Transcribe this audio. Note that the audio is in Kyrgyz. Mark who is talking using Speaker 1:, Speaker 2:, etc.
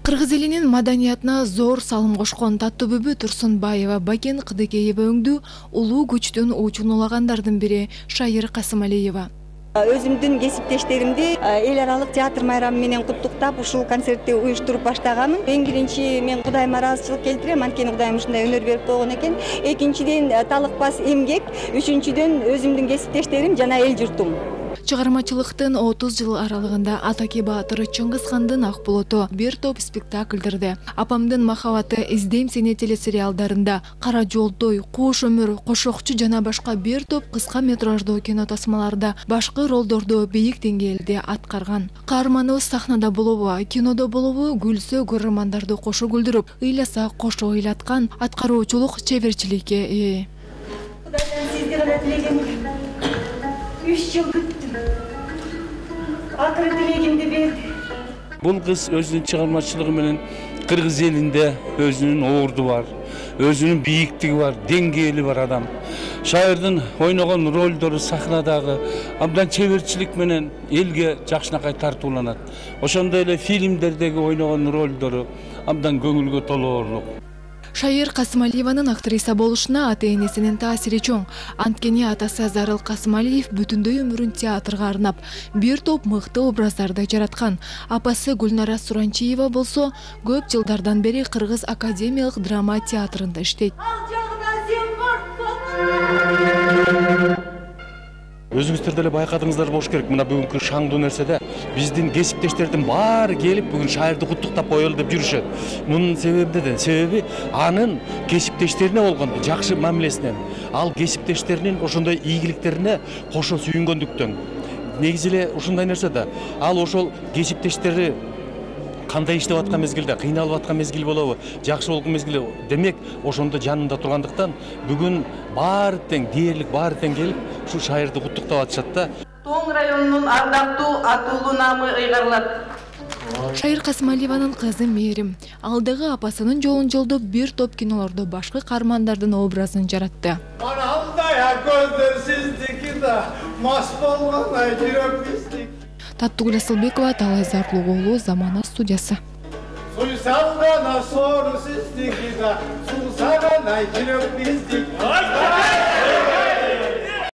Speaker 1: Кыргыз элинин маданиятына зор салым кошкон Таттыбүбү Турсунбаева Бакен Кыдыкеева өңдүү улуу күчтүн учун улагандардын бири Шайыр Касымалиева.
Speaker 2: Өзүмдүн кесиптештеримди эл аралык театр майрамы менен куттуктап ушул концертти уюштуруп баштаганмын. Эң биринчи мен Кудайыма ыраазычылык келтирем, анткени Кудайым ушундай өнөр берип койгон экен. Экинчиден талыкпас эмгек, үчүнчүдөн өзүмдүн кесиптештерим жана эл журтум.
Speaker 1: Чыгармачылыктын 30 жыл аралыгында Атаки Баатыр, Чыңгыз хандын Ак булуту, бир топ спектакльдерде, Апамдын махабаты, Издейм сени телесериалдарында, Кара жолдой, Куш өмүр, Кошокчу жана башка бир топ кыска метраждуу кино тасмаларда башкы ролдорду бийик деңгээлде аткарган. Каарманыбыз сахнада болобу, кинодо болобу, күлсө көрөрмандарды кошо күлдүрүп, ыйласа кошо ыйлаткан аткаруучулук чеберчиликке ээ.
Speaker 2: Кудайдан сизге гана тилегем 3 жыл күттүм. Акыры тилегимди берди.
Speaker 3: Бул кыз өзүнүн чыгармачылыгы менен кыргыз элинде өзүнүн орду бар, өзүнүн бийиктиги бар, деңгээли бар адам. Шайырдын ойногон ролдору сахнадагы абдан чеберчилик менен элге жакшынакай тартууланат. Ошондой эле фильмдердеги ойногон ролдору абдан көңүлгө толоорлук.
Speaker 1: Шайыр Касымалиеванын актриса болушуна ата-энесинин таасири чоң. Анткени атасы Зарыл Касымалиев бүтүндөй өмүрүн театрга арнап, бир топ мыкты образдарды жараткан. Апасы Гүлнара Суранчиева болсо, көп жылдардан бери Кыргыз академиялык драма театрында иштейт.
Speaker 4: Өзүңүздөр деле байкадыңыздар болуш керек. Мына бүгүнкү шаңдуу нерседе биздин кесиптештердин баары келип бүгүн Шайырды куттуктап коелу деп жүрүшөт. Мунун себеби эмнеде? Себеби анын кесиптештерине болгон жакшы мамилесинен, ал кесиптештеринин ошондой ийгиликтерине кошо сүйүнгөндүктөн. Негизи эле ушундай нерсе да. Ал ошол кесиптештери кандай иштеп аткан мезгилде, кыйналып аткан мезгил болобу, жакшы болгон мезгил, демек ошондо жанында тургандыктан бүгүн баары тең, дээрлик баары тең келип ушул Шайырды куттуктап атышат да.
Speaker 5: Тоң районунун ардактуу атуулуу намы ыйгарылат.
Speaker 1: Шайыр Касымалиеванын кызы Мээрим алдыгы апасынын жолун жолдоп бир топ кинолордо башкы каармандардын образын жаратты.
Speaker 6: Анандай көздөр сиздики да, мас болгондой жүрөк биздик.
Speaker 1: Таттыгүл Асылбекова, Талай Зарлуу, Замана студиясы.
Speaker 6: Суйсалгана сору сиздики да, сусагана жүрөк биздик.